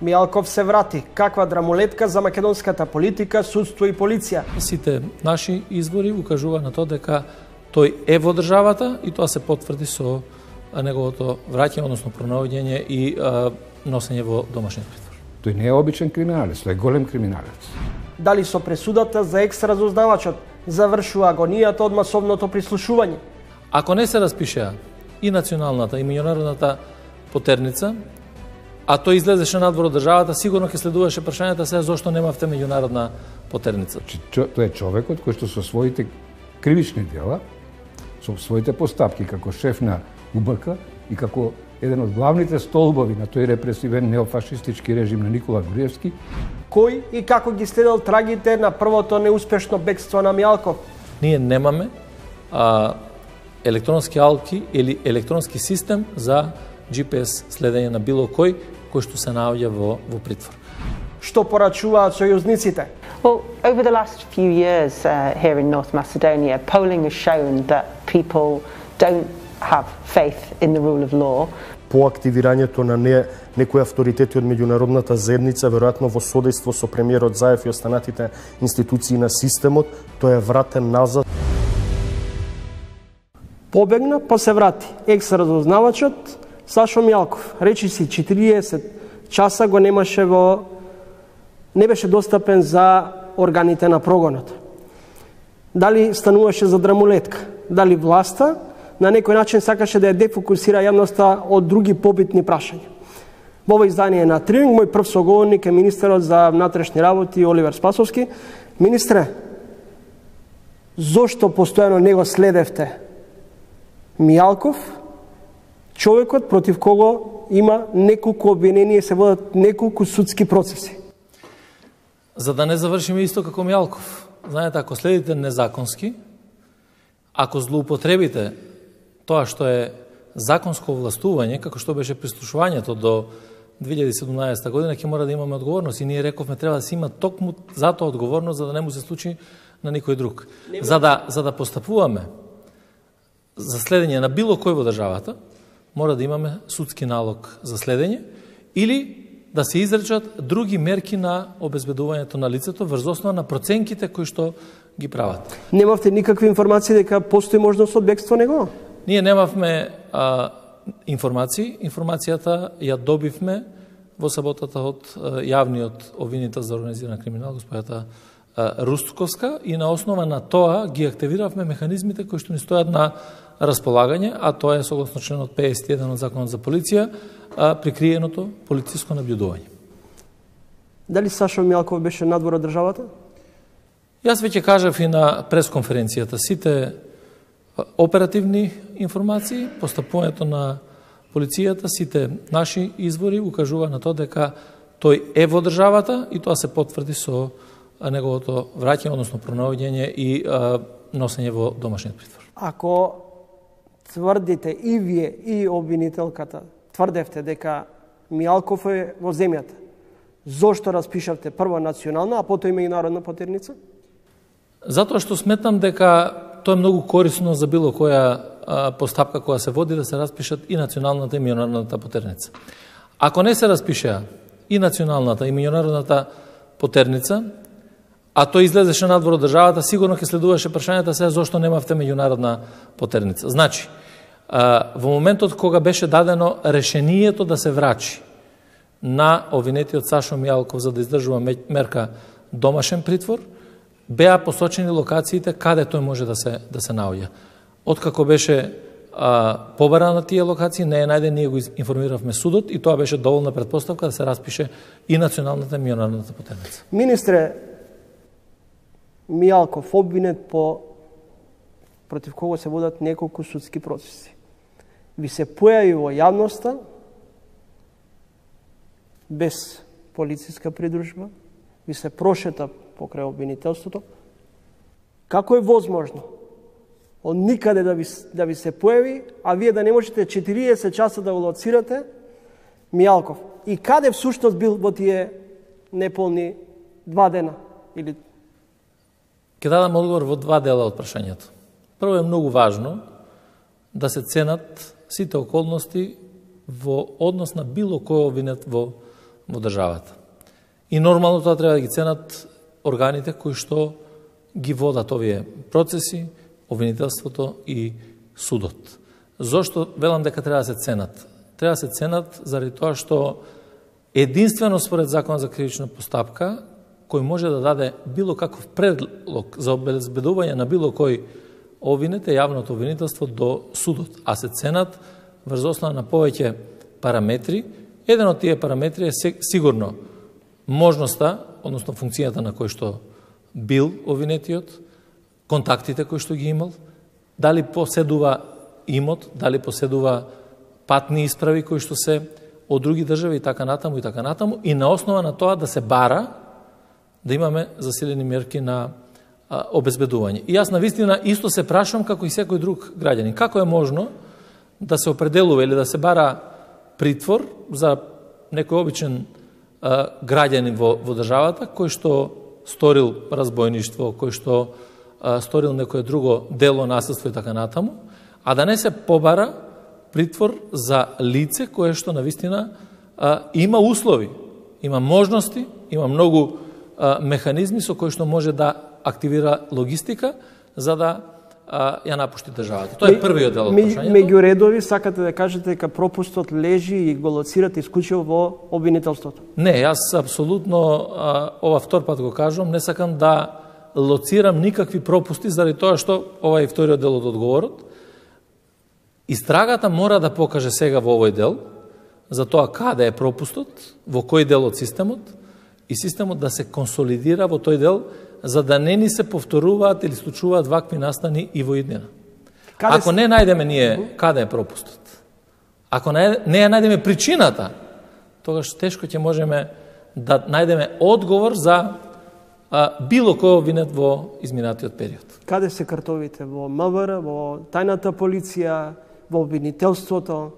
Мијалков се врати. Каква драмолетка за македонската политика, судство и полиција. Сите наши извори укажува на тоа дека тој е во државата и тоа се потврди со неговото враќање, односно пронаоѓање и носење во домашен притвор. Тој не е обичен криминалец, тој е голем криминалец. Дали со пресудата за екс-разузнавачот завршува агонијата од масовното прислушување? Ако не се распишеа и националната и меѓународната потерница, а тој излезеше надвор од државата, сигурно ќе следуваше прашањата се зошто немавте меѓународна потерница. Тој е човекот кој што со своите кривични дела, со своите постапки како шеф на УБК и како еден од главните столбови на тој репресивен неофашистички режим на Никола Груевски. Кој и како ги следел трагите на првото неуспешно бегство на Мијалков? Ние немаме електронски алки или електронски систем за GPS следење на било кој што се наоѓа во притвор. Што порачуваат сојузниците? Well, over the last few years here in North Macedonia, polling has shown that people don't have faith in the rule of law. По активирањето на некои авторитети од меѓународната заедница, веројатно во содејство со премиерот Заев и останатите институции на системот, тој е вратен назад. Побегна, па се врати. Екс-разузнавачот Сашо Мијалков, речиси 40 часа го немаше не беше достапен за органите на прогонот. Дали стануваше за драмолетка, дали власта на некој начин сакаше да ја дефокусира јавноста од други побитни прашања. Во ова издание на Тринг, мој прв соговорник е министерот за внатрешни работи Оливер Спасовски. Министре, зошто постојано не го следевте Мијалков, човекот против кого има неколку обвиненија, се водат неколку судски процеси? За да не завршиме исто како Мијалков. Знаете, ако следите незаконски, ако злоупотребите тоа што е законско властување, како што беше прислушувањето до 2017 година, ќе мора да имаме одговорност. И ние рековме треба да се има токму затоа одговорност, за да не му се случи на никој друг. За да постапуваме за следење на било кој во државата, мора да имаме судски налог за следење или да се изречат други мерки на обезбедувањето на лицето врз основа на проценките кои што ги прават. Немавте никакви информации дека постои можност од бегство него? Ние немавме информации. Информацијата ја добивме во саботата од јавниот обвинител за организиран криминал, господјата Рустковска, и на основа на тоа ги активиравме механизмите кои што ни стојат на располагање, а тоа е согласно членот 51 од Законот за полиција, прикриеното полициско наблюдување. Дали Сашо Мијалков беше надвор од државата? Јас веќе кажав и на пресконференцијата. Сите оперативни информации, постапувањето на полицијата, сите наши извори укажува на тоа дека тој е во државата и тоа се потврди со неговото враќање, односно пронаоѓање и носење во домашен притвор. Ако тврдите и вие и обвинителката тврдевте дека Мијалков е во земјата, зошто распишавте прво национална, а потоа и меѓународна потерница? Затоа што сметам дека тоа е многу корисно за било која постапка која се води да се распишат и националната и меѓународната потерница. Ако не се распишеа и националната и меѓународната потерница, а тој излезеше надвор од државата, сигурно ќе следуваше прашањата се зошто немавте меѓународна потерница. Значи, во моментот кога беше дадено решението да се врачи на обвинетиот Сашо Мијалков за да издржува мерка домашен притвор, беа посочени локациите каде тој може да се наоѓа. Откако беше побара на тие локации, не е најден, ние го информиравме судот и тоа беше доволна претпоставка да се распише и националната и меѓународната потерница. Министре, Мијалков обвинет против кого се водат неколку судски процеси. Ви се појави во јавноста без полициска придружба, ви се прошета покрај обвинителството. Како е возможно од никаде да ви се појави, а вие да не можете 40 часа да го лоцирате Мијалков? И каде всушност бил во тие неполни 2 дена? Или... Ке дадам одговор во 2 дела од прашањето. Прво е многу важно да се ценат сите околности во однос на било кој обвинет во во државата. И нормално тоа треба да ги ценат органите кои што ги водат овие процеси, обвинителството и судот. Зошто велам дека треба да се ценат? Треба да се ценат заради тоа што единствено според Законот за кривична постапка, кој може да даде било каков предлог за обезбедување на било кој обвинет е јавното обвинителство до судот, а се ценат врз основа на повеќе параметри. Еден од тие параметри е сигурно можноста, односно функцијата на кој што бил обвинетиот, контактите кои што ги имал, дали поседува имот, дали поседува патни исправи кои што се од други држави и така натаму, и на основа на тоа да се бара да имаме засилени мерки на обезбедување. И јас навистина исто се прашувам како и секој друг граѓанин. Како е можно да се определува или да се бара притвор за некој обичен граѓанин во државата кој што сторил разбойништво, кој што сторил некое друго дело, насилство и така натаму, а да не се побара притвор за лице кое што навистина има услови, има можности, има многу механизми со кои што може да активира логистика за да ја напушти државата. Тоа е првиот дел од прашањето. Меѓу редови сакате да кажете дека пропустот лежи и го лоцирате исклучиво во обвинителството? Не, јас апсолутно ова втор пат го кажувам, не сакам да лоцирам никакви пропусти заради тоа што ова е вториот дел од одговорот. Истрагата мора да покаже сега во овој дел за тоа каде е пропустот, во кој дел од системот, и системот да се консолидира во тој дел за да не ни се повторуваат или случуваат вакви настани и во иднина. Ако не најдеме ние каде е пропустот, ако не ја најдеме причината, тогаш тешко ќе можеме да најдеме одговор за било кој обвинет во изминатиот период. Каде се картовите? Во МВР, во тајната полиција, во обвинителството?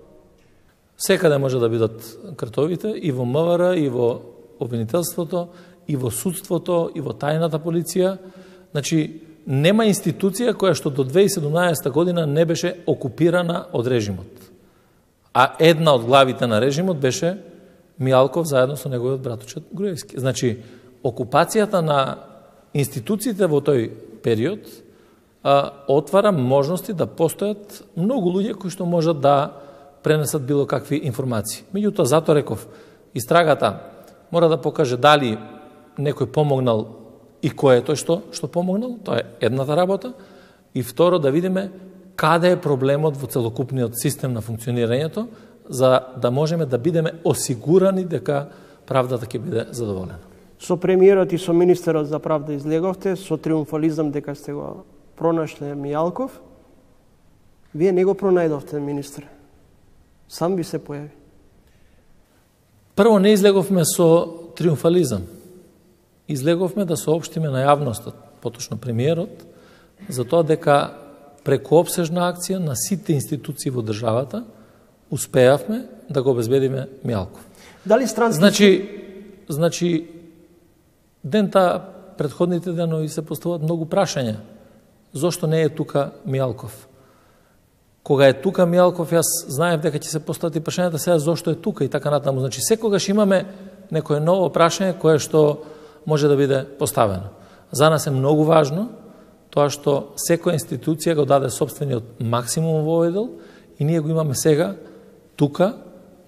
Секаде може да бидат картовите, и во МВР, и во обвинителството, и во судството, и во тајната полиција. Значи, нема институција која што до 2017 година не беше окупирана од режимот. А една од главите на режимот беше Мијалков заедно со неговиот братучет Груевски. Значи, окупацијата на институциите во тој период отвара можности да постојат многу луѓе кои што можат да пренесат било какви информации. Меѓутоа, затоа реков, истрагата мора да покаже дали некој помогнал и кој е тој што помогнал, тоа е едната работа, и второ да видиме каде е проблемот во целокупниот систем на функционирањето, за да можеме да бидеме осигурани дека правдата ќе биде задоволена. Со премиерот и со министерот за правда излеговте, со триумфализам дека сте го пронашле Мијалков. Вие не го пронајдовте, министре. Сам ви се појави. Прво, не излеговме со триумфализам. Излеговме да соопштиме на јавностот, поточно премиерот, за тоа дека преку обсежна акција на сите институции во државата успеавме да го обезбедиме Мијалков. Дали странски... Значи, дента, предходните денови се поставуваат многу прашања. Зошто не е тука Мијалков? Кога е тука Мијалков, јас знаев дека ќе се постават и прашањата сега зошто е тука и така натаму. Значи, секогаш имаме некое ново прашање кое што може да биде поставено. За нас е многу важно тоа што секоја институција го даде собствениот максимум во овој дел и ние го имаме сега тука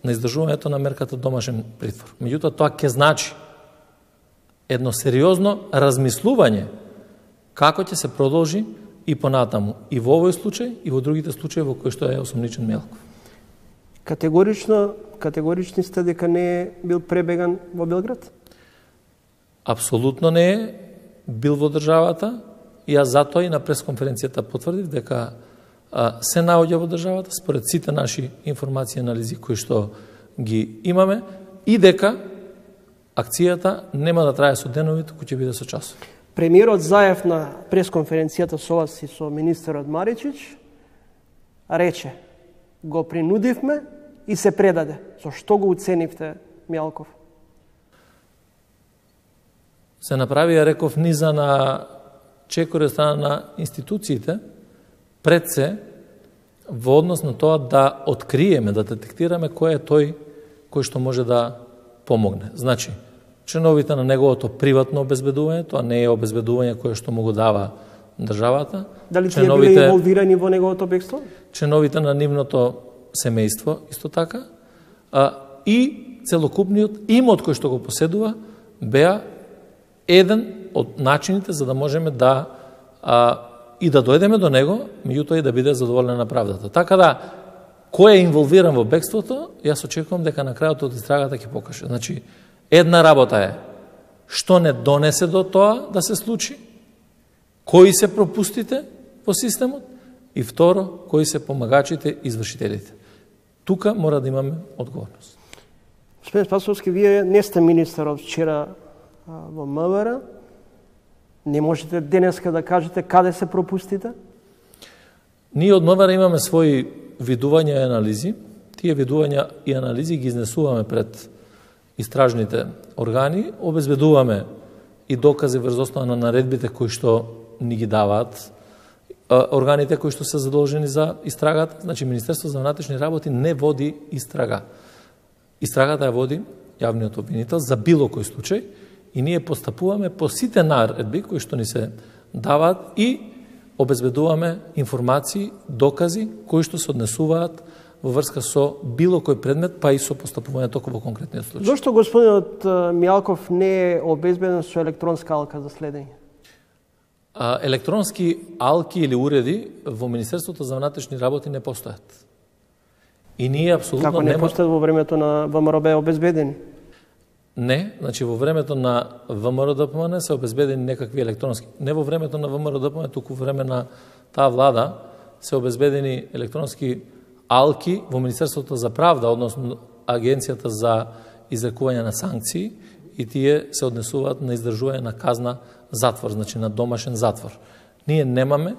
на издржувањето на мерката домашен притвор. Меѓутоа, тоа ќе значи едно сериозно размислување како ќе се продолжи и понатаму, и во овој случај, и во другите случаи во кои што е осомничен Мијалков. Категорични сте дека не е бил пребеган во Белград? Апсолутно не е бил во државата. Јас затоа и на пресконференцијата потврдив дека се наоѓа во државата според сите наши информации и анализи кои што ги имаме и дека акцијата нема да трае со денови, туку ќе биде со часови. Премиерот Заев на пресконференцијата со вас и со министерот Маричич рече: го принудивме и се предаде. Со што го уценивте Мијалков? Се направи, ја реков, низа на чекори од страна на институциите, пред се во однос на тоа да откриеме, да детектираме кој е тој кој што може да помогне. Значи, членовите на неговото приватно обезбедување, тоа не е обезбедување кое што му го дава државата. Дали тие биле инволвирани во неговото бегство? Членовите на нивното семејство, исто така, и целокупниот имот кој што го поседува, беа еден од начините за да можеме да и да дојдеме до него, меѓутоа и да биде задоволена правдата. Така да, кој е инволвиран во бегството, јас очекувам дека на крајот од истрагата ќе покаже. Значи, една работа е што не донесе до тоа да се случи, кои се пропустите во системот и второ, кои се помагачите и извршителите. Тука мора да имаме одговорност. Господин Спасовски, вие не сте министар од вчера во МВР. Не можете денеска да кажете каде се пропустите? Ние од МВР имаме своји видувања и анализи. Тие видувања и анализи ги изнесуваме пред истражните органи, обезбедуваме и докази врз основа на наредбите кои што ни ги даваат органите кои што се задолжени за истрагата. Значи, Министерство за внатрешни работи не води истрага. Истрагата ја води јавниот обвинител за било кој случај и ние постапуваме по сите наредби кои што ни се даваат и обезбедуваме информации, докази кои што се однесуваат во врска со било кој предмет, па и со постапување току во конкретниот случај. Зошто господинот Мијалков не е обезбеден со електронска алка за следење? Електронски алки или уреди во Министерството за внатрешни работи не постојат. И ние апсолутно Како не постојат во времето на ВМРО обезбедени? Не, значи во времето на ВМРО-ДПМН се обезбедени некакви електронски. Не во времето на ВМРО-ДПМН, туку во време на таа влада се обезбедени електронски алки во Министерството за правда, односно Агенцијата за изрекување на санкции, и тие се однесуваат на издржување на казна затвор, значи на домашен затвор. Ние немаме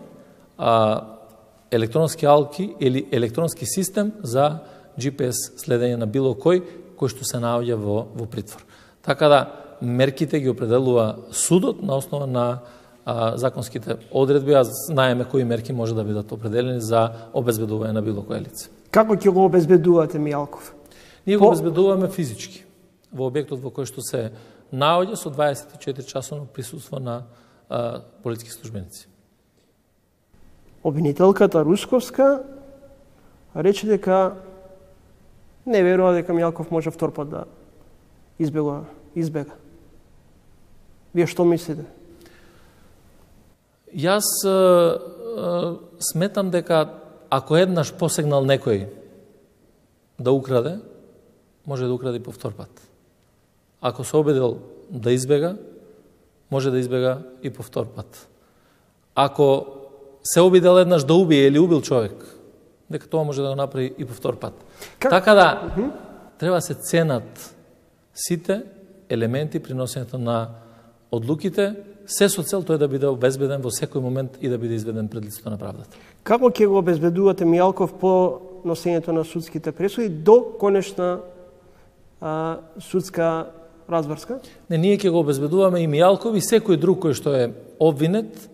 електронски алки или електронски систем за GPS следење на било кој што се наоѓа во притвор. Така да, мерките ги определува судот на основа на законските одредби, а знаеме кои мерки може да бидат определени за обезбедување на било кое лице. Како ќе го обезбедувате Мијалков? Ние го обезбедуваме физички во објектот во кој што се наоѓа со 24 часовно присуство на полициски службеници. Обвинителката Русковска рече дека не верува дека Мијалков може втор пат да избега. Вие што мислите? Јас сметам дека ако еднаш посегнал некој да украде, може да украде по втор пат. Ако се обидел да избега, може да избега и по втор пат. Ако се обидел еднаш да убие или убил човек, дека тоа може да го направи и по втор пат. Така да, треба се ценат сите елементи при носењето на одлуките, се со цел тој да биде обезбеден во секој момент и да биде изведен пред лицето на правдата. Како ќе го обезбедувате Мијалков по носењето на судските пресуди до конечна судска разврска? Не, ние ќе го обезбедуваме и Мијалков и секој друг кој што е обвинет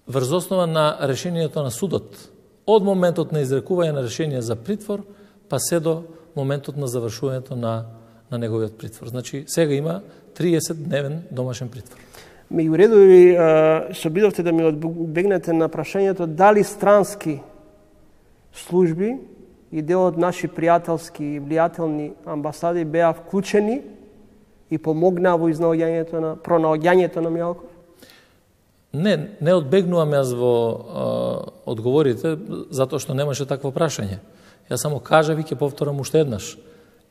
врз основа на решението на судот. Од моментот на изрекување на решение за притвор, па се до моментот на завршувањето на неговиот притвор. Значи, сега има 30-дневен домашен притвор. Меѓу редови се обидовте да ми одбегнете на прашањето дали странски служби и дел од наши пријателски и влијателни амбасади беа вклучени и помогнаа во пронаоѓањето на Мијалков? Не одбегнувам јас во одговорите, затоа што немаше такво прашање. Јас само кажав и ќе повторам уште еднаш.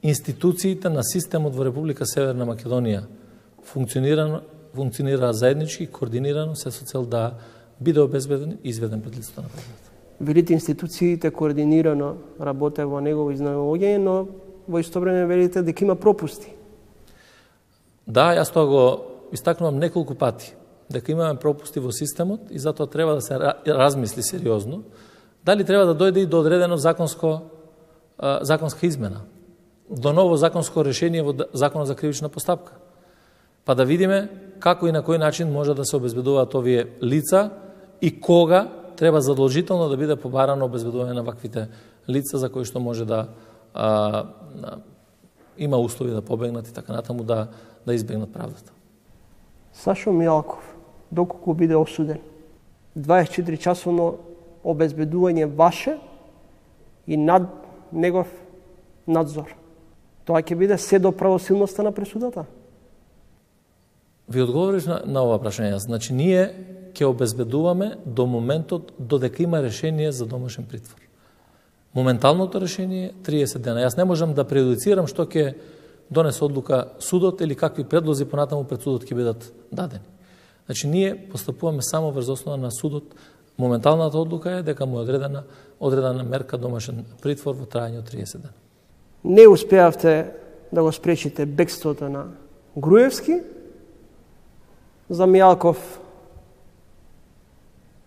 Институциите на системот во Република Северна Македонија функционира заеднички, координирано, се со цел да биде обезбеден и изведен пред лицето на правдата. Велите институциите координирано работе во негово изнаоѓање, но во исто време велите дека има пропусти. Да, јас тоа го истакнувам неколку пати, дека имаме пропусти во системот и затоа треба да се размисли сериозно дали треба да дојде и до одредено законска измена, до ново законско решение во Законот за кривична постапка, па да видиме како и на кој начин може да се обезбедуваат овие лица и кога треба задолжително да биде побарано обезбедување на ваквите лица за кои што може да има услови да побегнат и така натаму да избегнат правдата. Сашо Мијалков, доколку биде осуден, 24 часовно обезбедување ваше и над негов надзор. Тоа ќе биде се до правосилноста на пресудата? Ви одговориш на ова прашање. Значи, ние ќе обезбедуваме до моментот додека има решение за домашен притвор. Моменталното решение е 30 дена. Јас не можам да преюдицирам што ќе донесе одлука судот или какви предлози понатаму пред судот ќе бидат дадени. Значи, ние постапуваме само врз основа на судот. Моменталната одлука е дека му е одредена мерка домашен притвор во трајање од 30 дена. Не успеавте да го спречите бегството на Груевски. За Мијалков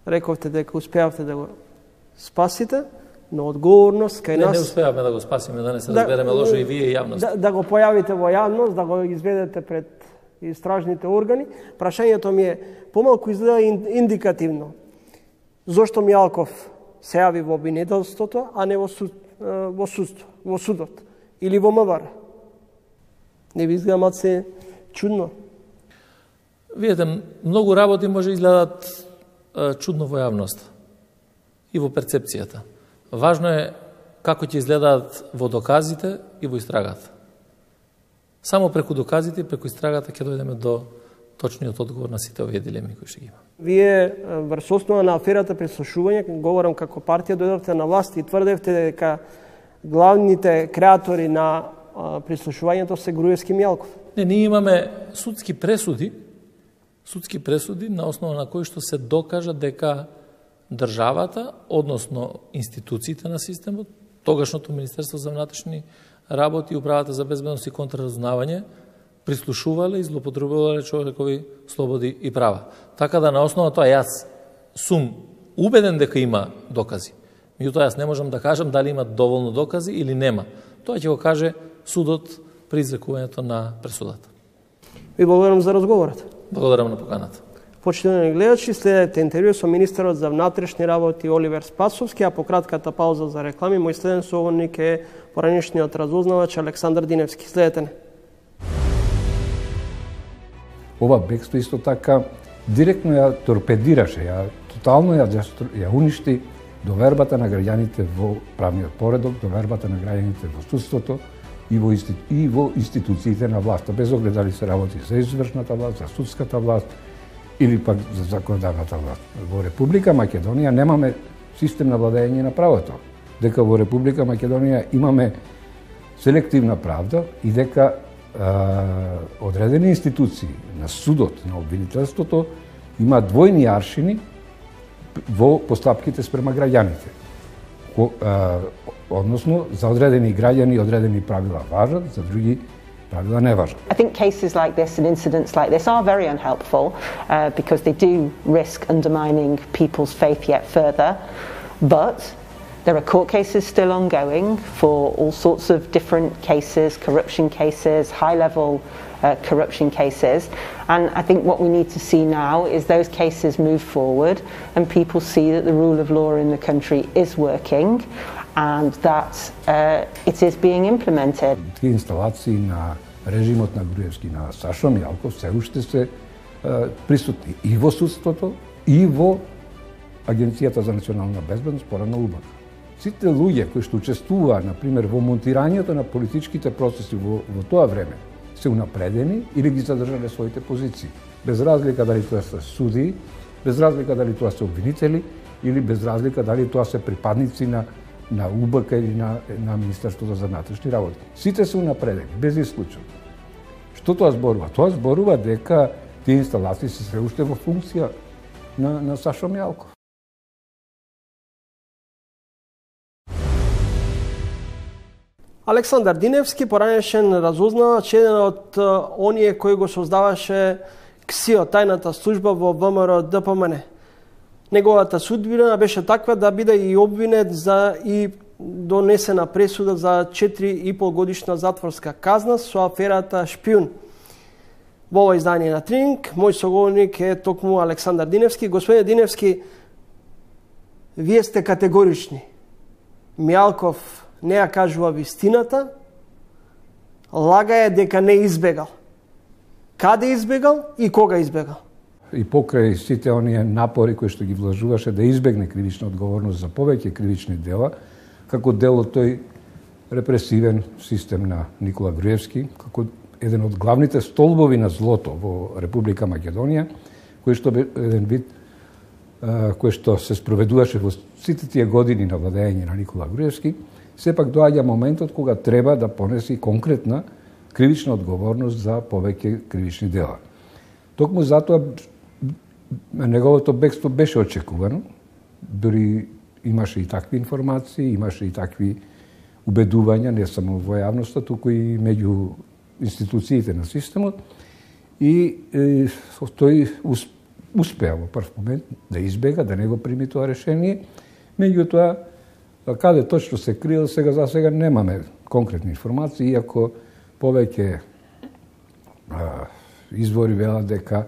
рековте дека успеавте да го спасите, но одговорност кај нас... Не успеавме да го спасиме, да не се разбереме лошо и вие и јавност. Да го појавите во јавност, да го изведете пред истражните органи. Прашањето ми е помалку изгледа индикативно. Зошто Мијалков се јави во обвинителството, а не во судот или во МВР? Не ви изгледа малце чудно? Видете, многу работи може изгледат чудно во јавност и во перцепцијата. Важно е како ќе изгледаат во доказите и во истрагата. Само преку доказите и преку истрагата ќе дојдеме до точниот одговор на сите овие дилеми кои што ги има. Вие врз основа на аферата прислушување, говорам како партија, дојдовте на власт и тврдевте дека главните креатори на прислушувањето се Груевски и Мијалков. Не, ние имаме судски пресуди на основа на кои што се докажа дека државата, односно институциите на системот, тогашното Министерство за внатрешни работи и Управата за безбедност и контраразузнавање, прислушувале и злоупотребувале човекови слободи и права. Така да на основа тоа јас сум убеден дека има докази. Меѓутоа јас не можам да кажам дали има доволно докази или нема. Тоа ќе го каже судот при изрекувањето на пресудата. Ви благодарам за разговорот. Благодарам на поканата. Почитувани гледачи, следете интервју со министерот за внатрешни работи Оливер Спасовски, а по кратката пауза за реклами, мој следен соговорник е поранешниот разузнавач Александар Диневски. Следете не. Ова бегство исто така директно ја торпедираше, тотално ја уништи довербата на граѓаните во правниот поредок, довербата на граѓаните во судството и во институциите на власта, без оглед дали се работи за извршната власт, за судската власт или пак за законодавната власт. Во Република Македонија немаме систем на владење на правото, дека во Република Македонија имаме селективна правда и дека одредени институции на судот, на обвинителството, има двојни аршини во постапките спрема граѓаните. Односно, за одредени граѓани одредени правила важат, за други правила не важат. I think cases like this and incidents like this are very unhelpful because they do risk undermining people's faith yet further, but there are court cases still ongoing for all sorts of different cases, corruption cases, high-level corruption cases, and I think what we need to see now is those cases move forward and people see that the rule of law in the country is working and that it is being implemented. Тие инсталации на режимот на Груевски, на Сашо Мијалков, се уште се присутни и во судството, и во Агенцијата за национална безбедност, порано УБК. Сите луѓе кои што учествуваа, например, во монтирањето на политичките процеси во тоа време, се унапредени или ги задржале своите позиции. Без разлика дали тоа се судии, без разлика дали тоа се обвинители, или без разлика дали тоа се припадници на УБК или на Министерството за внатрешни работи. Сите се унапредени, без исклучок. Што тоа зборува? Тоа зборува дека тие инсталации се уште во функција на Сашо Мијалков. Александар Диневски, поранешен разузнавач, еден од оние кои го создаваше КСИО, тајната служба во ВМРО ДПМН. Неговата судбина беше таква да биде и обвинет за и донесена пресуда за 4,5 годишна затворска казна со аферата Шпиун. Во ова издание на Трининг, мој соговорник е токму Александар Диневски. Господине Диневски, вие сте категорични. Мијалков не ја кажува вистината, лага е дека не избегал. Каде избегал и кога избегал? И покрај сите оние напори кои што ги вложуваше да избегне кривична одговорност за повеќе кривични дела, како дел од тој репресивен систем на Никола Груевски, како еден од главните столбови на злото во Република Македонија, кој што бе еден вид кој што се спроведуваше во сите тие години на владење на Никола Груевски, сепак доаѓа моментот кога треба да понеси конкретна кривична одговорност за повеќе кривични дела. Токму затоа неговото бегство беше очекувано, дури имаше и такви информации, имаше и такви убедувања, не само во јавноста, туку и меѓу институциите на системот, и тој успеа во прв момент да избега, да не го прими тоа решение. Меѓутоа, каде точно се криел, за сега немаме конкретни информации, иако повеќе извори велат дека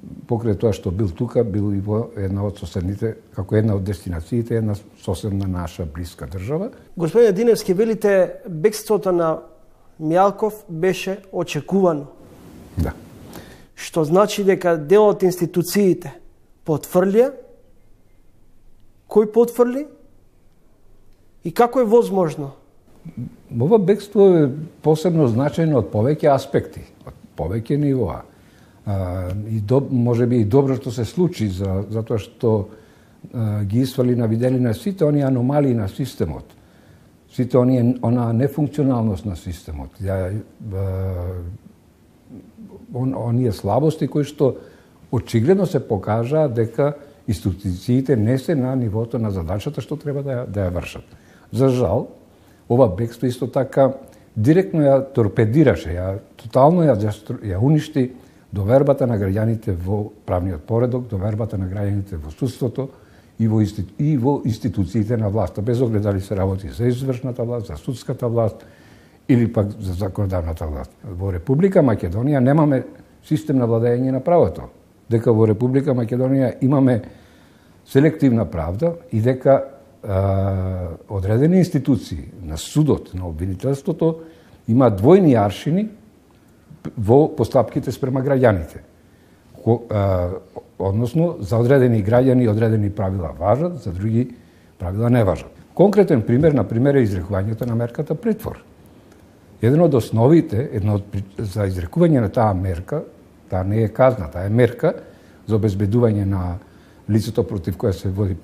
покрај тоа што бил тука, бил и во една од соседните, како една од дестинациите, една соседна наша блиска држава. Господине Диневски, велите бегството на Мијалков беше очекувано. Да. Што значи дека дел од институциите потврлија, кој потврли и како е возможно? Ова бегство е посебно значајно од повеќе аспекти, од повеќе нивоа. Може би и добро што се случи, затоа што ги свали на виделина сите оние аномалии на системот, сите онаа нефункционалност на системот, оние слабости кои што очигледно се покажаа дека институциите не се на нивото на задачата што треба да ја вршат. За жал, ова бегство исто така директно ја торпедираше, тотално ја уништи довербата на граѓаните во правниот поредок, довербата на граѓаните во судството и во институциите на власта, без оглед дали се работи за извршната власт, за судската власт или пак за законодавната власт. Во Република Македонија немаме систем на владење на правото, дека во Република Македонија имаме селективна правда и дека одредени институции на судот, на обвинителството, има двојни аршини во постапките спрема граѓаните. Односно, за одредени граѓани одредени правила важат, за други правила не важат. Конкретен пример, например, е изрекувањето на мерката притвор. Еден од основите за изрекување на таа мерка, таа не е казна, таа е мерка за обезбедување на лицето против која се води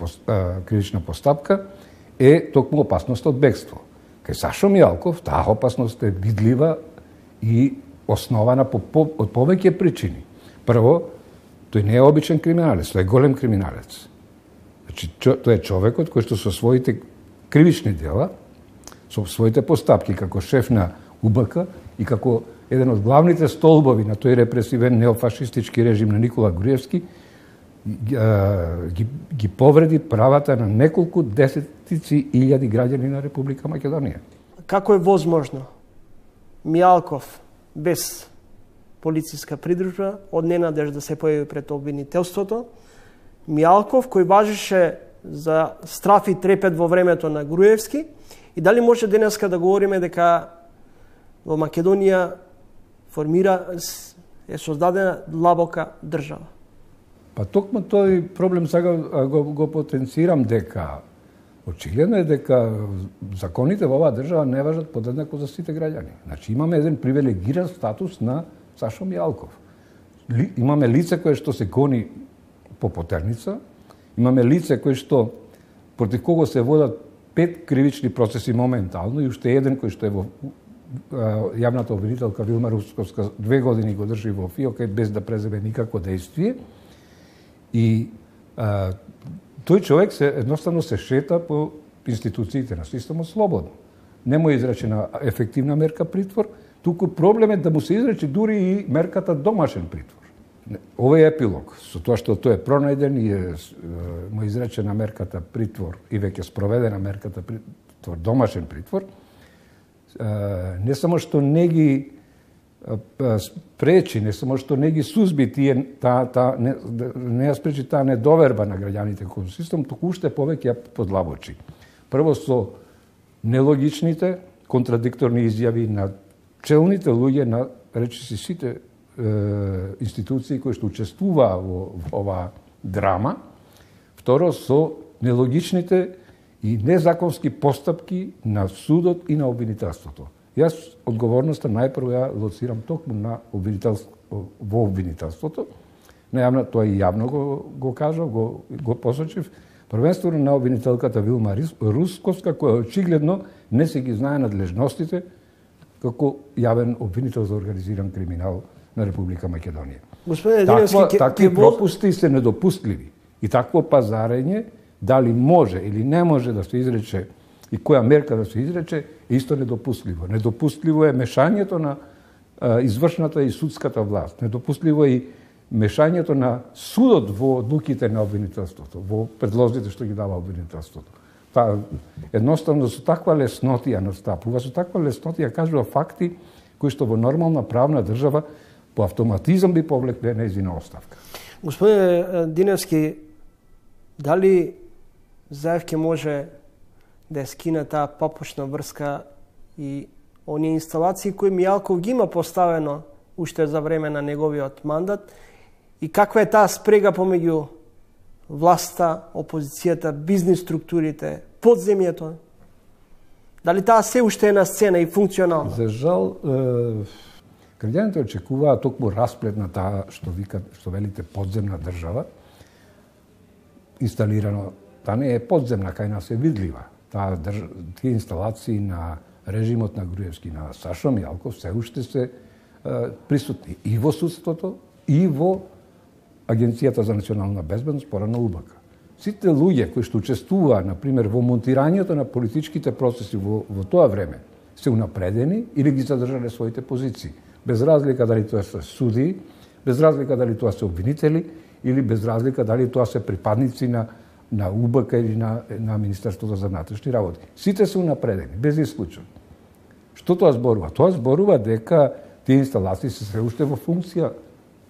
кривична постапка, е токму опасност од бегство. Кај Сашо Мијалков таа опасност е видлива и основана од повеќе причини. Прво, тој не е обичен криминалец, тој е голем криминалец. Значи, тој е човекот кој што со своите кривични дела, со своите постапки како шеф на УБК и како еден од главните столбови на тој репресивен неофашистички режим на Никола Груевски, ги повреди правата на неколку десетици илјади граѓани на Република Македонија. Како е возможно Мијалков без полициска придружба од ненадеж да се појави пред обвинителството, Мијалков кој важеше за страф и трепет во времето на Груевски, и дали може денеска да говориме дека во Македонија е создадена длабока држава? Па токму тој проблем сега го потенцирам дека очигледно е дека законите во оваа држава не важат подеднакво за сите граѓани. Значи имаме еден привилегиран статус на Сашо Мијалков. Имаме лице кое што се гони по потерница, имаме лице кое што против кого се водат 5 кривични процеси моментално и уште еден кој што е во јавната обвинителка Вилма Русковска 2 години го држи во ФИОК без да преземе никакво дејствие. И тој човек едноставно се шета по институциите на системот слободно. Не му е изречена ефективна мерка притвор, туку проблем е да му се изрече дури и мерката домашен притвор. Овој епилог, со тоа што тој е пронајден и му е изречена мерката притвор и веќе спроведена мерката притвор, домашен притвор, не само што не ги спречи, не само што не ги сузби не ја спречи таа недоверба на граѓаните кон систем, туку уште повеќе ја подлабочи. Прво со нелогичните, контрадикторни изјави на челните луѓе на речиси сите институции кои што учествуваа во оваа драма. Второ, со нелогичните и незаконски постапки на судот и на обвинителството. Јас одговорноста најпрво ја лоцирам токму на во обвинителството. Најавно тоа и јавно го кажав, го посочив, првенствено на обвинителката Вилма Русковска, која очигледно не се ги знае надлежностите како јавен обвинител за организиран криминал на Република Македонија. Такви пропусти се недопустливи и такво пазарење, дали може или не може да се изрече и која мерка да се изрече, е исто недопустливо. Недопустливо е мешањето на извршната и судската власт. Недопустливо е и мешањето на судот во одлуките на обвинителството, во предлозите што ги дава обвинителството. Едноставно со таква леснотија настапува, со таква леснотија кажува факти кои што во нормална правна држава по автоматизам би повлекле нејзина оставка. Господине Диневски, дали Заев ќе може да скине таа папушна врска и оние инсталации кои Мијалков ги има поставено уште за време на неговиот мандат, и каква е таа спрега помеѓу власта, опозицијата, бизнис структурите, подземјето? Дали таа се уште е на сцена и функционална? За жал, граѓаните очекуваат токму расплет на таа што велите подземна држава, инсталирано. Таа не е подземна, кај нас е видлива. Тие инсталации на режимот на Груевски, на Сашо Мијалков, се уште се присутни и во судството, и во Агенцијата за национална безбедност, порано УБК. Сите луѓе кои што учествуваа, например, во монтирањето на политичките процеси во тоа време, се унапредени или ги задржале своите позиции. Без разлика дали тоа се судии, без разлика дали тоа се обвинители, или без разлика дали тоа се припадници на УБК или на Министерството за внатрешни работи. Сите се унапредени, без исклучок. Што тоа зборува? Тоа зборува дека тие инсталации се уште во функција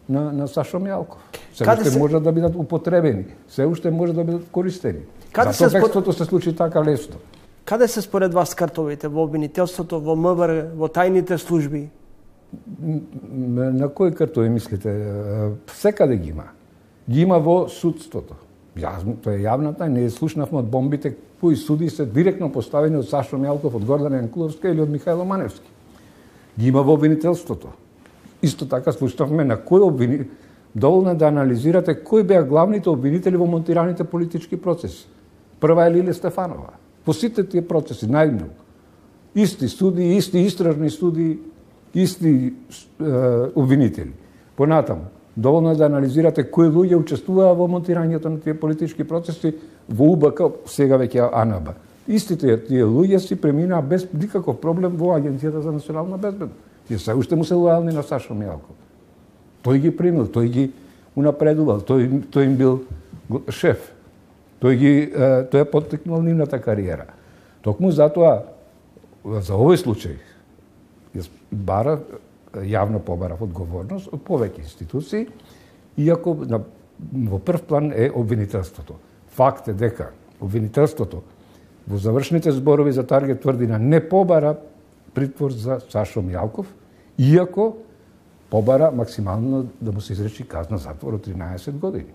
на Сашо Мијалков. Се уште можат да бидат употребени, се уште може да бидат користени. Зато бегството се случи така лесно. Каде се според вас картовите? Во обвинителството, во МВР, во тајните служби? На кои картови мислите? Секаде ги има. Ги има во судството. Тоа е јавна тајна, не слушнавме од бомбите кои суди се директно поставени од Сашо Мијалков, од Гордана Јанкуловска или од Михајло Маневски. Ги има во обвинителството. Исто така слушнавме на кој обвинител. Доволно да анализирате кои беа главните обвинители во монтираните политички процеси. Прва е Лиле Стефанова. По сите тие процеси, најмногу. Исти суди, исти истражни суди, исти обвинители. Понатаму, доволно е да анализирате кои луѓе учествуваа во монтирањето на тие политички процеси во УБК, сега веќе АНБ. Истите тие луѓе си преминаа без никаков проблем во Агенцијата за национална безбедност. Тие се уште му се лојални на Сашо Мијалков. Тој ги примил, тој ги унапредувал, тој им бил шеф. Тој е поттекнал нивната кариера. Токму затоа, за овој случај, бара, јавно побарав одговорност од повеќе институции, иако во прв план е обвинителството. Факт е дека обвинителството во завршните зборови за Таргет тврдина не побара притвор за Сашо Мијалков, иако побара максимално да му се изречи казна затвор од 13 години.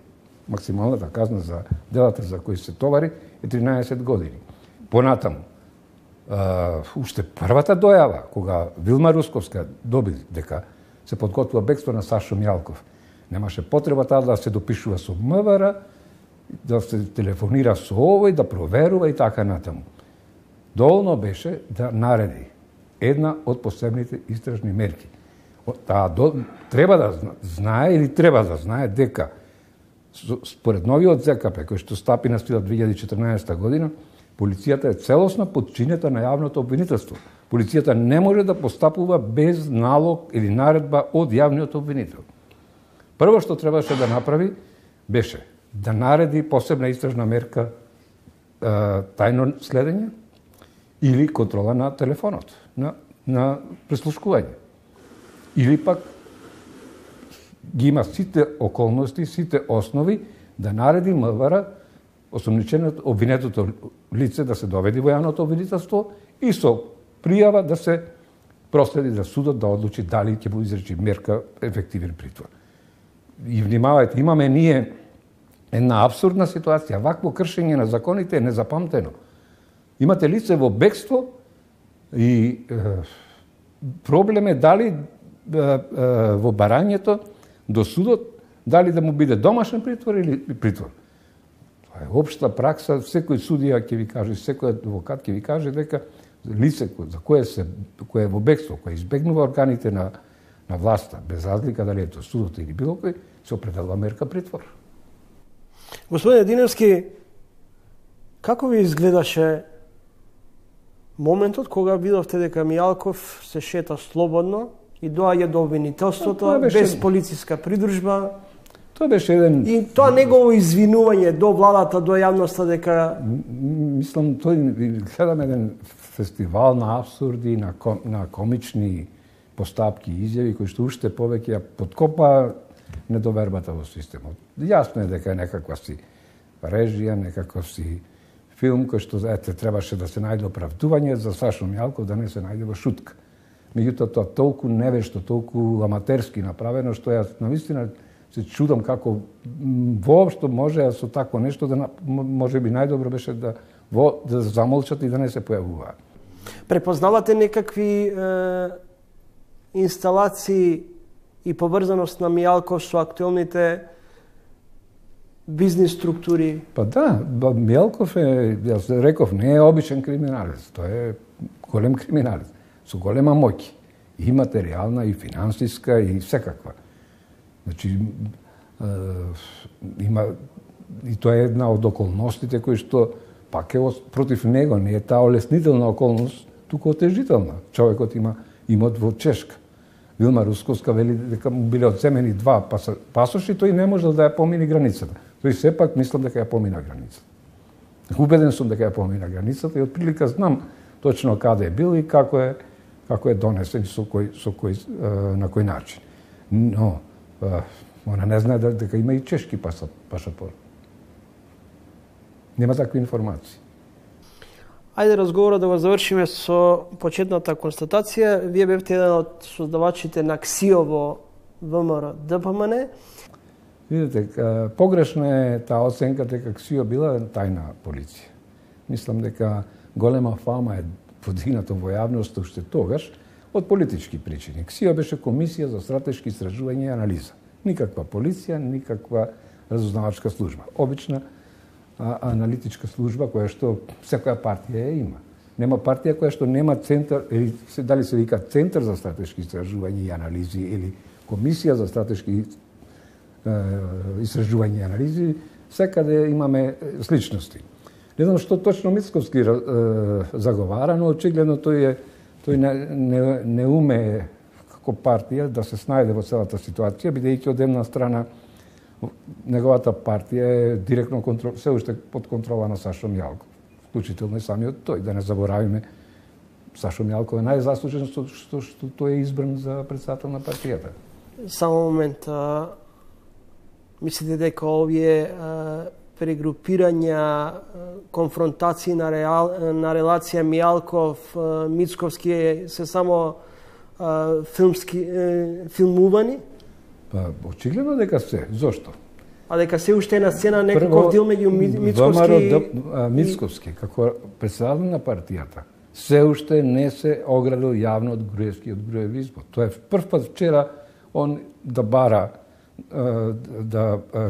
Максималната казна за делата за кои се товари е 13 години. Понатаму, уште првата дојава, кога Вилма Русковска доби дека се подготвува бегство на Сашо Мијалков, немаше потреба таа да се допишува со МВР, да се телефонира со овој, да проверува и така натаму. Доволно беше да нареди една од посебните истражни мерки. Треба да знае или треба да знае дека според новиот ЗКП, кој што стапи на сила 2014 година, полицијата е целосно подчинета на јавното обвинителство. Полицијата не може да постапува без налог или наредба од јавниот обвинител. Прво што требаше да направи беше да нареди посебна истражна мерка тајно следење или контрола на телефонот, на преслушкување. Или пак ги има сите околности, сите основи да нареди МВР осомниченото обвинетото лице да се доведи во јавното обвинителство и со пријава да се проследи за судот да одлучи дали ќе му изречи мерка ефективен притвор. И внимавајте, имаме ние една абсурдна ситуација. Вакво кршење на законите е незапамтено. Имате лице во бегство и проблем е дали во барањето до судот, дали да му биде домашен притвор или притвор. Това е општа пракса, секој судија ќе ви каже, секој адвокат ќе ви каже дека лице за кое е во бегство, кое избегнува органите на власта, без разлика дали е тоа судот или било кој, се определува мерка притвор. Господине Диневски, како ви изгледаше моментот кога видовте дека Мијалков се шета слободно и доаѓа до обвинителството без полициска придружба? Тоа беше еден... И тоа негово извинување до владата, до јавноста дека... Мислам, гледам еден фестивал на абсурди, на комични постапки и изјави кои што уште повеќе ја подкопа недовербата во системот. Јасно е дека е некаква си режија, некаков си филм кој што требаше да се најде оправдување за Сашо Мијалков да не се најде во шутка. Меѓутоа тоа толку невешто, толку аматерски направено што јас навистина се чудам како воопшто може со такво нешто да можеби најдобро беше да замолчат и да не се појавуваат. Препознавате некакви инсталации и поврзаност на Мијалков со актуелните бизнис структури? Па да, Мијалков е, јас реков, не е обичен криминалец, тој е голем криминалец, со голема моќ, и материјална, и финансиска, и секаква. Значи, има, и тоа е една од околностите кои што пак е против него, не е таа олеснителна околност, туку отежителна. Човекот има имот во Чешка. Вилма Русковска вели дека му биле одземени 2 пасоши, тој не можел да ја помини границата. Тој сепак мислам дека ја помина границата. Убеден сум дека ја помина границата и отприлика знам точно каде е бил и како е донесен на кој начин. Но она не знае дека има и чешки пашапорт. Нема такви информации. Ајде разговорот да го завршиме со почетната констатација. Вие бевте еден од создавачите на КСИО во ВМРО ДПМН. Видите, погрешна е таа оценка дека КСИО била тајна полиција. Мислам дека голема фама е подигната во јавност уште тогаш од политички причини. КСИО беше Комисија за стратешки истражување и анализа. Никаква полиција, никаква разузнавачка служба. Обична аналитичка служба која што секоја партија ја има. Нема партија која што нема центар, или дали се вика Центар за стратешки истражување и анализи или Комисија за стратешки истражување и анализи, секаде имаме сличности. Не знам што точно Мицковски заговара, но очигледно тој не умее како партија да се снајде во целата ситуација, бидејќи од една страна неговата партија е директно се уште под контрола на Сашо Мијалков, вклучително и самиот тој. Да не заборавиме, Сашо Мијалков е најзаслужен што тој е избран за председател на партијата. Само момент, мислите дека овие прегрупирања, конфронтации на релација Мијалков-Мицковски се само филмувани? Па, очигледно дека се. Зошто? А дека се уште на сцена некаков дел меѓу Мицковски, како председател на партијата, се уште не се оградил јавно од Груевски и од Груев избор. Тоа е прв пат вчера он да бара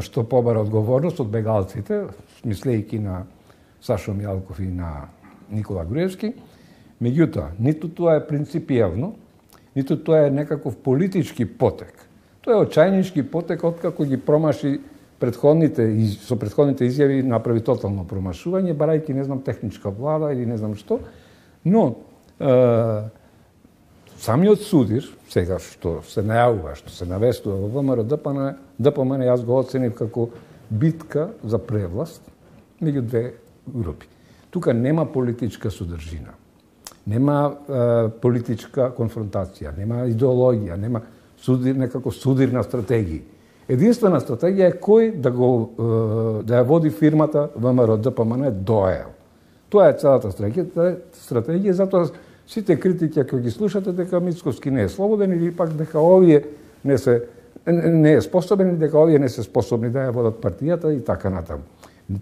што побара одговорност од бегалците, мислејќи на Сашо Мијалков и на Никола Груевски. Меѓутоа, ниту тоа е принципијално, ниту тоа е некаков политички потек. Тоа е очајнички потек откако ги промаши со претходните изјави направи тотално промашување, барајќи не знам техничка влада или не знам што, но самиот судир, сега што се најавува, што се навестува во ВМРО ДПМН, јас го оценив како битка за превласт меѓу две групи. Тука нема политичка содржина, нема политичка конфронтација, нема идеологија, нема некако судирна стратегија. Единствена стратегија е кој да ја води фирмата ВМРО ДПМН до ЕЛ. Тоа е целата стратегија, затоа сите критики ако ги слушате дека Мицковски не е слободен или пак дека овие не е способен, дека овие не се способни да ја водат партијата и така натаму.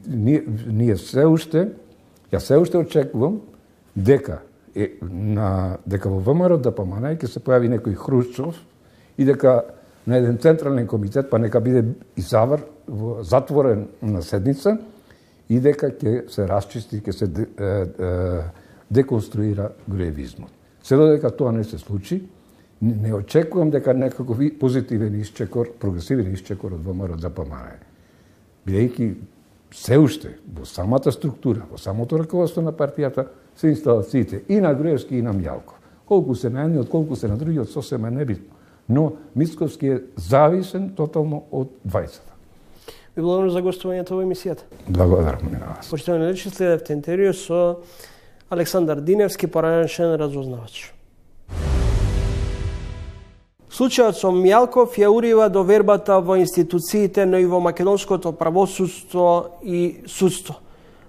Ние се уште очекувам дека во ВМРО ДПМН ќе се појави некој Хрушчов и дека на еден централен комитет, па нека биде и затворен на седница, и дека ќе се расчисти, ќе се деконструира груевизмот. Се додека тоа не се случи, не очекувам дека некаков позитивен исчекор, прогресивен исчекор од ВМРО ДПМН. Бидејќи се уште во самата структура, во самото раководство на партијата се инсталациите и на Груевски и на Мјалков. Колку се на едниот, колку се на другиот, сосема небитно. Но Мицковски е зависен тотално од двајцата. Ви благодарам за гостувањето во емисијата. Благодарам на вас. Почитувани лечи, следевте интервју со Александар Диневски, поранешен разузнавач. Случајот со Мјалков ја урива довербата во институциите, но и во македонското правосудство и судство.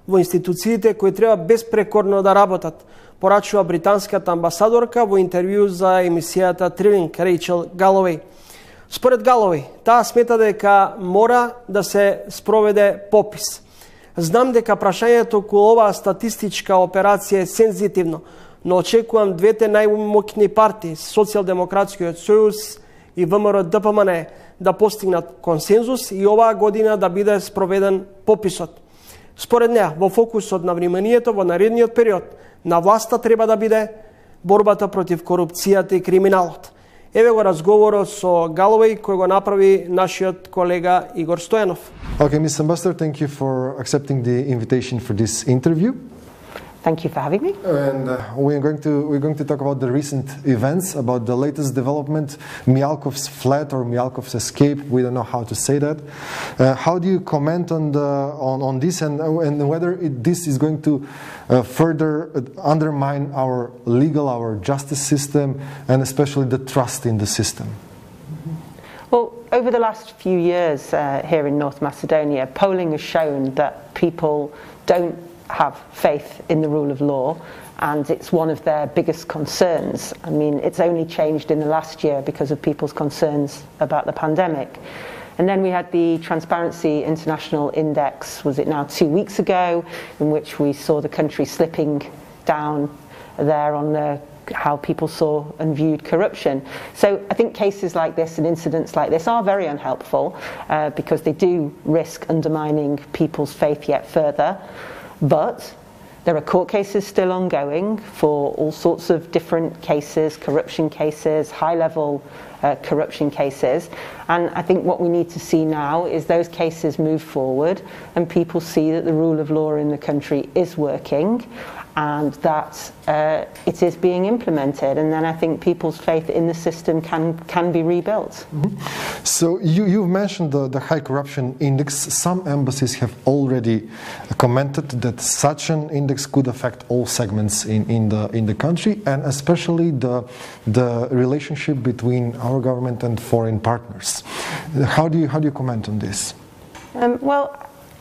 Во институциите кои треба безпрекорно да работат, порачува британската амбасадорка во интервју за емисијата Трилинг Рейчел Галовеј. Според Галовеј, таа смета дека мора да се спроведе попис. Знам дека прашањето околу оваа статистичка операција е сензитивно, но очекувам двете најмоќни партии, Социјалдемократскиот сојуз и ВМРО ДПМН, да постигнат консензус и оваа година да биде спроведен пописот. Според неа, во фокусот на вниманието во наредниот период на власта треба да биде борбата против корупцијата и криминалот. Еве го разговорот со Галовеј кој го направи нашиот колега Игор Стојанов. Okay, Ms. Ambassador, thank you for accepting the invitation for this interview. Thank you for having me. And we're going to talk about the recent events, about the latest development, Mjalkov's flight or Mjalkov's escape. We don't know how to say that. How do you comment on this and whether this is going to further undermine our legal, our justice system, and especially the trust in the system? Well, over the last few years here in North Macedonia, polling has shown that people don't have faith in the rule of law, and it's one of their biggest concerns. I mean, it's only changed in the last year because of people's concerns about the pandemic. And then we had the Transparency International Index, was it now 2 weeks ago, in which we saw the country slipping down there on how people saw and viewed corruption. So I think cases like this and incidents like this are very unhelpful because they do risk undermining people's faith yet further. But there are court cases still ongoing for all sorts of different cases, corruption cases, high-level corruption cases. And I think what we need to see now is those cases move forward and people see that the rule of law in the country is working and that it is being implemented. And then I think people's faith in the system can be rebuilt. Mm-hmm. So you've mentioned the high corruption index. Some embassies have already commented that such an index could affect all segments in the country, and especially the relationship between our government and foreign partners. How do you comment on this? Well,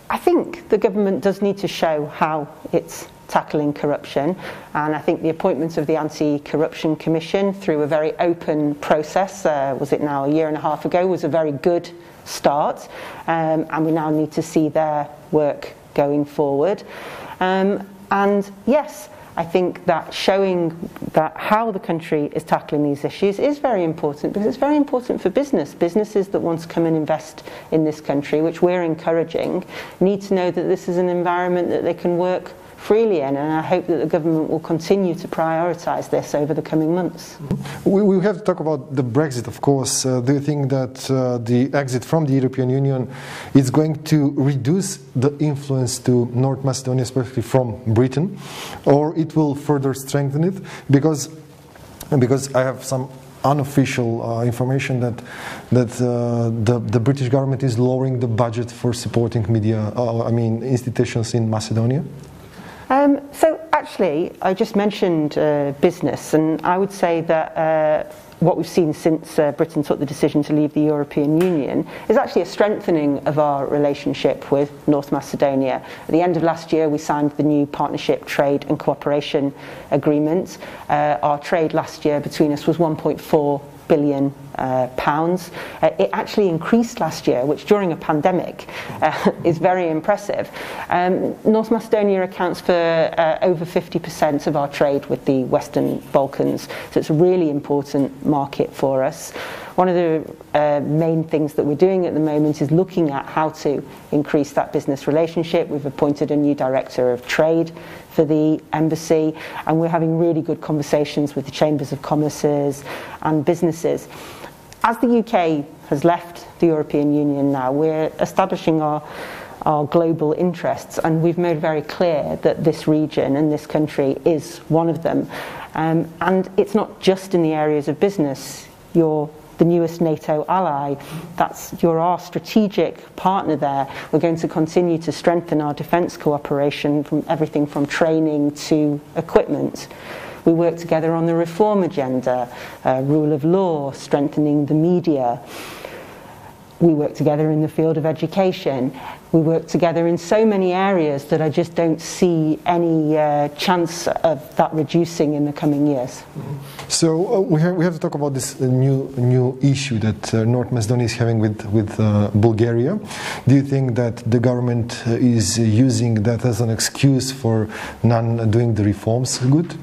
I think the government does need to show how it's tackling corruption, and I think the appointment of the Anti-Corruption Commission through a very open process, was it now 1.5 years ago, was a very good start, and we now need to see their work going forward. And yes, I think that showing that how the country is tackling these issues is very important, because it's very important for businesses that want to come and invest in this country, which we're encouraging, need to know that this is an environment that they can work freely in, and I hope that the government will continue to prioritise this over the coming months. We have to talk about the Brexit, of course. Do you think that the exit from the European Union is going to reduce the influence to North Macedonia, especially from Britain, or it will further strengthen it? Because I have some unofficial information that the British government is lowering the budget for supporting media, institutions in Macedonia. So actually, I just mentioned business, and I would say that what we've seen since Britain took the decision to leave the European Union is actually a strengthening of our relationship with North Macedonia. At the end of last year, we signed the new Partnership, Trade and Cooperation Agreement. Our trade last year between us was £1.4 billion. It actually increased last year, which during a pandemic is very impressive. North Macedonia accounts for over 50% of our trade with the Western Balkans, so it's a really important market for us. One of the main things that we're doing at the moment is looking at how to increase that business relationship. We've appointed a new director of trade for the embassy, and we're having really good conversations with the chambers of commerces and businesses. As the UK has left the European Union now, we're establishing our global interests, and we've made very clear that this region and this country is one of them. And it's not just in the areas of business. You're the newest NATO ally. You're our strategic partner there. We're going to continue to strengthen our defence cooperation from everything from training to equipment. We work together on the reform agenda, rule of law, strengthening the media. We work together in the field of education. We work together in so many areas that I just don't see any chance of that reducing in the coming years. So we have to talk about this new issue that North Macedonia is having with Bulgaria. Do you think that the government is using that as an excuse for not doing the reforms good?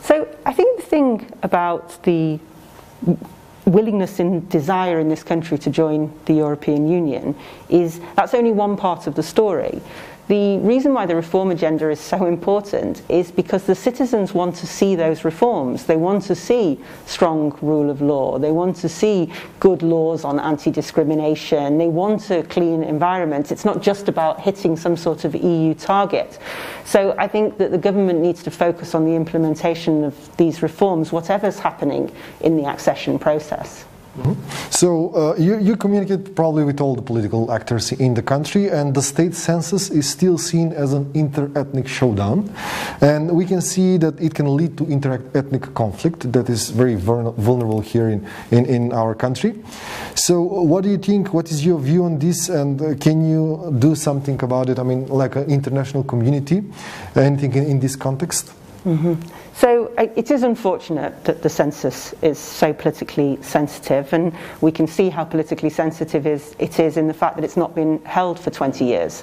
So I think the thing about the willingness and desire in this country to join the European Union is that's only one part of the story. The reason why the reform agenda is so important is because the citizens want to see those reforms. They want to see strong rule of law. They want to see good laws on anti-discrimination. They want a clean environment. It's not just about hitting some sort of EU target. So I think that the government needs to focus on the implementation of these reforms, whatever's happening in the accession process. Mm-hmm. So you communicate probably with all the political actors in the country, and the state census is still seen as an inter-ethnic showdown, and we can see that it can lead to inter-ethnic conflict that is very vulnerable here in our country. So what do you think, what is your view on this, and can you do something about it? I mean, like an international community, anything in this context? Mm-hmm. So it is unfortunate that the census is so politically sensitive, and we can see how politically sensitive it is in the fact that it's not been held for 20 years.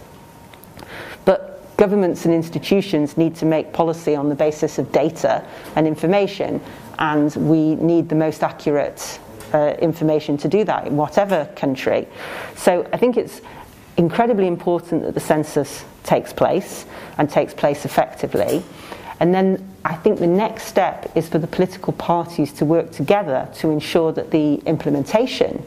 But governments and institutions need to make policy on the basis of data and information, and we need the most accurate information to do that in whatever country. So I think it's incredibly important that the census takes place and takes place effectively. And then I think the next step is for the political parties to work together to ensure that the implementation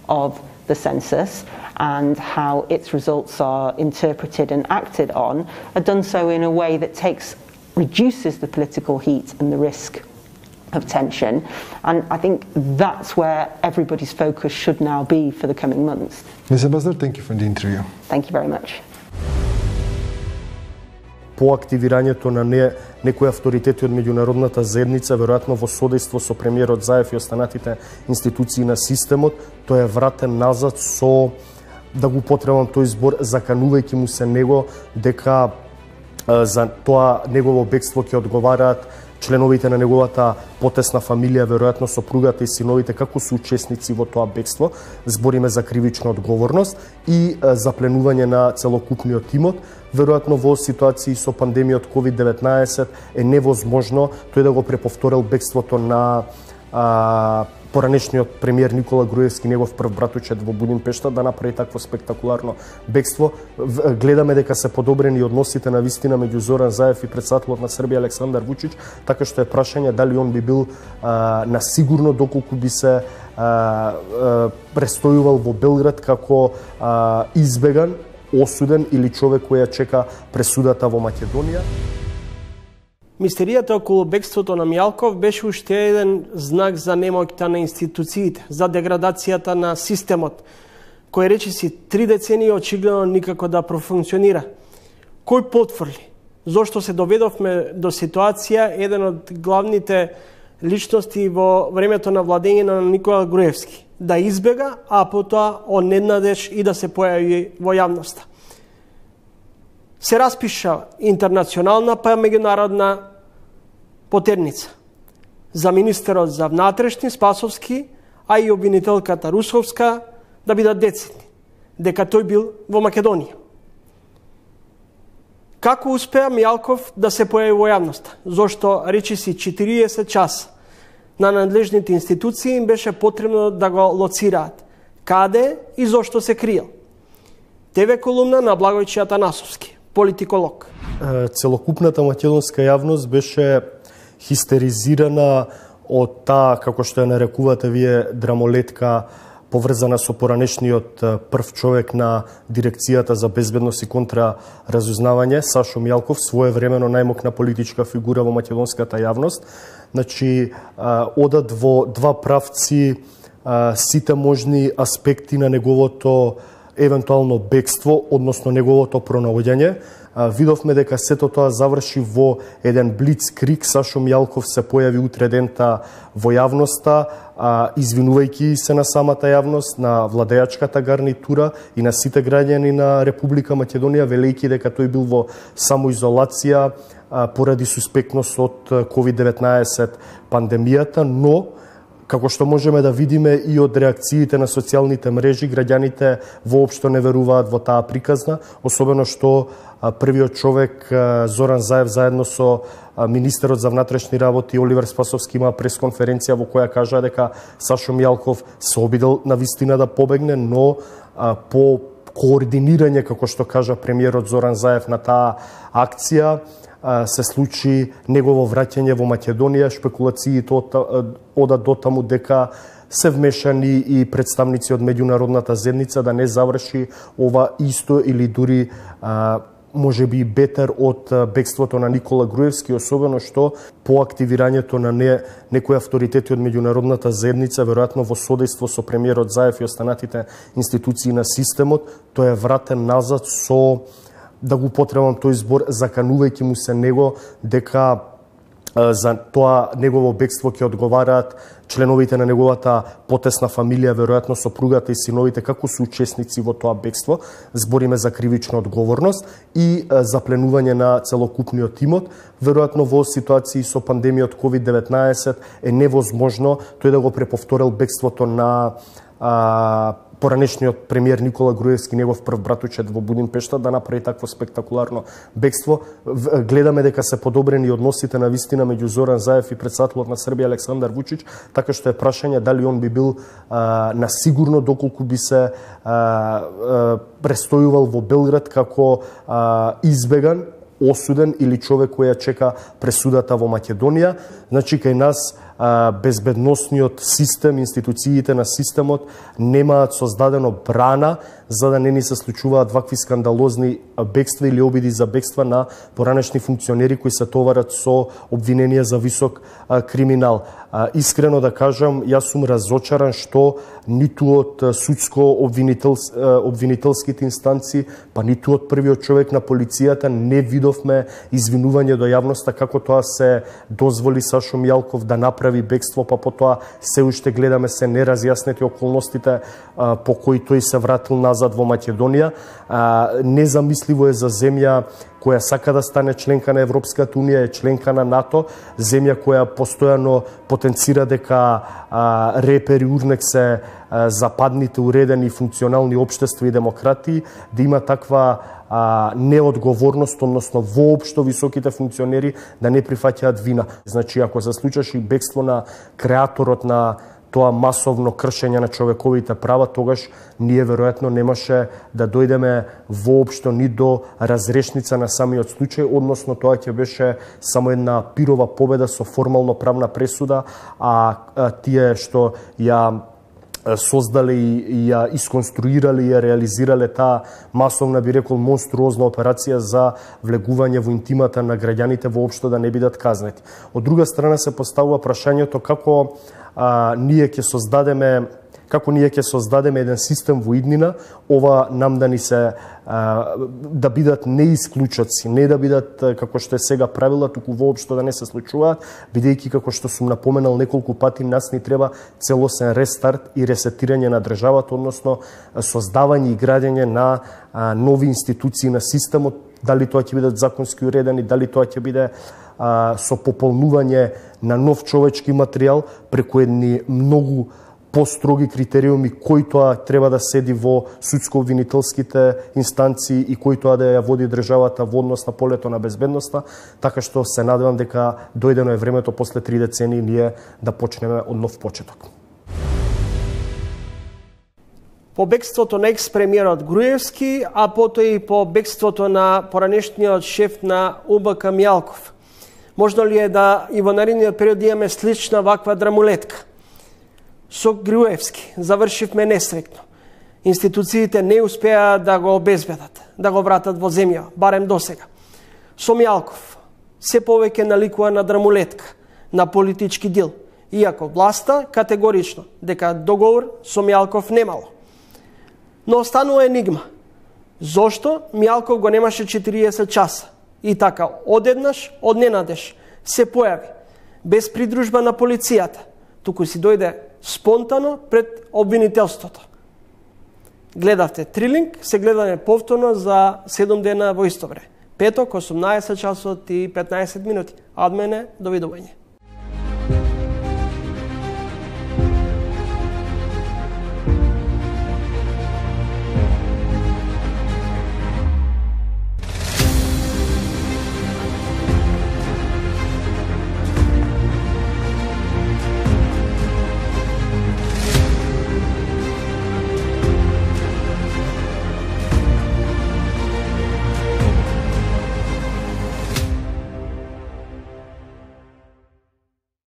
of the census and how its results are interpreted and acted on are done so in a way that reduces the political heat and the risk of tension. And I think that's where everybody's focus should now be for the coming months. Ms. Ambassador, thank you for the interview. Thank you very much. По активирањето на некои авторитети од меѓународната заедница, веројатно во содејство со премиерот Заев и останатите институции на системот, тој е вратен назад со, да го употребам тој збор, заканувајќи му се него дека за тоа негово бегство ќе одговараат членовите на неговата потесна фамилија, веројатно сопругата и синовите, како се учесници во тоа бегство. Збориме за кривична одговорност и запленување на целокупниот имот. Веројатно во ситуации со пандемијот COVID-19 е невозможно тој да го преповторил бегството на поранешниот премиер Никола Груевски, негов прв братучет во Будимпешта, да направи такво спектакуларно бегство. Гледаме дека се подобрени односите на вистина меѓу Зоран Заев и претседателот на Србија Александар Вучич, така што е прашање дали он би бил на сигурно доколку би се престојувал во Белград како избеган, осуден или човек кој ја чека пресудата во Македонија. Мистеријата околу бегството на Мјалков беше уште еден знак за немоќта на институциите, за деградацијата на системот, кој речиси 3 децении очигледно никако да профункционира. Кој потврли? Зошто се доведовме до ситуација еден од главните личности во времето на владење на Никола Груевски да избега, а потоа одненадеж и да се појави во јавноста. Се распиша интернационална па меѓународна потерница за министерот за внатрешни Спасовски, а и обвинителката Русовска да бидат децидни, дека тој бил во Македонија. Како успеа Мијалков да се појави во јавноста? Зошто речиси 40 часа на надлежните институции им беше потребно да го лоцираат? Каде и зошто се криел? ТВ колумна на Благојче Атанасовски, политиколог. Целокупната македонска јавност беше хистеризирана од таа, како што ја нарекувате вие, драмолетка поврзана со поранешниот прв човек на Дирекцијата за безбедност и контраразузнавање, Сашо Мијалков, своевремено најмокна политичка фигура во македонската јавност. Значи, одат во два правци сите можни аспекти на неговото евентуално бегство, односно неговото пронаоѓање. Видовме дека сето тоа заврши во еден блицкриг. Сашо Мијалков се појави утре дента во јавноста, извинувајќи се на самата јавност, на владеачката гарнитура и на сите граѓани на Република Македонија, велејќи дека тој бил во самоизолација поради суспектност од COVID-19 пандемијата, но како што можеме да видиме и од реакциите на социјалните мрежи, граѓаните воопшто не веруваат во таа приказна, особено што првиот човек Зоран Заев заедно со министерот за внатрешни работи Оливер Спасовски има пресконференција во која кажа дека Сашо Мијалков се обидел на вистина да побегне, но по координирање, како што кажа премиерот Зоран Заев на таа акција, се случи негово враќање во Македонија. Шпекулациите одат до таму дека се вмешани и представници од меѓународната заедница да не заврши ова исто или дури може би бетер од бегството на Никола Груевски, особено што по активирањето на некои авторитети од меѓународната заедница, веројатно во содејство со премиерот Заев и останатите институции на системот, тој е вратен назад со, да го потребам тој збор, заканувајќи му се него дека за тоа негово бегство ќе одговараат членовите на неговата потесна фамилија, веројатно сопругата и синовите, како се учесници во тоа бегство. Збориме за кривична одговорност и запленување на целокупниот имот. Веројатно во ситуации со пандемијот COVID-19 е невозможно тој да го преповторил бегството на поранешниот премиер Никола Груевски, негов прв братучет во Будимпешта, да направи такво спектакуларно бегство. Гледаме дека се подобрени односите на вистина меѓу Зоран Заев и претседателот на Србија Александар Вучич, така што е прашање дали он би бил на сигурно доколку би се престојувал во Белград како избеган, осуден или човек кој ја чека пресудата во Македонија. Значи, кај нас безбедносниот систем, институциите на системот немаат создадено брана за да не ни се случуваат вакви скандалозни бегства или обиди за бегства на поранешни функционери кои се товарат со обвиненија за висок криминал. Искрено да кажам, јас сум разочаран што ниту од судско-обвинителските инстанции, па ниту од првиот човек на полицијата не видовме извинување до јавноста како тоа се дозволи Сашо Мијалков да направи бегство, па потоа се уште гледаме се неразјаснети околностите по кои тој се вратил назад во Македонија. Незамисливо е за земја која сака да стане членка на Европската Унија, е членка на НАТО, земја која постојано потенцира дека репери урнек се западните уредени функционални општества и демократии, да има таква неодговорност, односно воопшто високите функционери да не прифаќаат вина. Значи, ако се случеше бегство на креаторот на тоа масовно кршење на човековите права, тогаш ние веројатно немаше да дојдеме воопшто ни до разрешница на самиот случај, односно тоа ќе беше само една пирова победа со формално правна пресуда, а тие што ја создале и ја исконструирале и ја реализирале таа масовна, би рекол, монструозна операција за влегување во интимата на граѓаните воопшто да не бидат казнети. Од друга страна се поставува прашањето како ние ќе создадеме еден систем во иднина, ова нам да ни се да бидат не исклучоци, не да бидат како што е сега правила, туку воопшто да не се случуваат, бидејќи како што сум напоменал неколку пати, нас ни треба целосен рестарт и ресетирање на државата, односно создавање и градење на нови институции на системот, дали тоа ќе бидат законски уредени, дали тоа ќе биде со пополнување на нов човечки материјал преку едни многу построги критериуми кој тоа треба да седи во судско-обвинителските инстанции и кој тоа да ја води државата во однос на полето на безбедноста, така што се надевам дека дојдено е времето после 3 децении ние да почнеме од нов почеток. По бегството на екс-премиерот Груевски, а потоа и по бегството на поранешниот шеф на УБК Мјалков. Можно ли е да и во наредниот период имаме слична ваква драмулетка? Со Груевски завршивме несреќно. Институциите не успеа да го обезбедат, да го вратат во земја, барем досега. Со Мјалков се повеќе наликува на драмулетка, на политички дил, иако власта категорично дека договор со Мјалков немало. Но останува енигма. Зошто Мјалков го немаше 40 часа? И така, одеднаш, одненадеж, се појави, без придружба на полицијата, туку си дојде спонтано пред обвинителството. Гледавте Трилинг, се гледаме повторно за 7 дена во исто време. Петок, 18 часот и 15 минути. Од мене, довидување.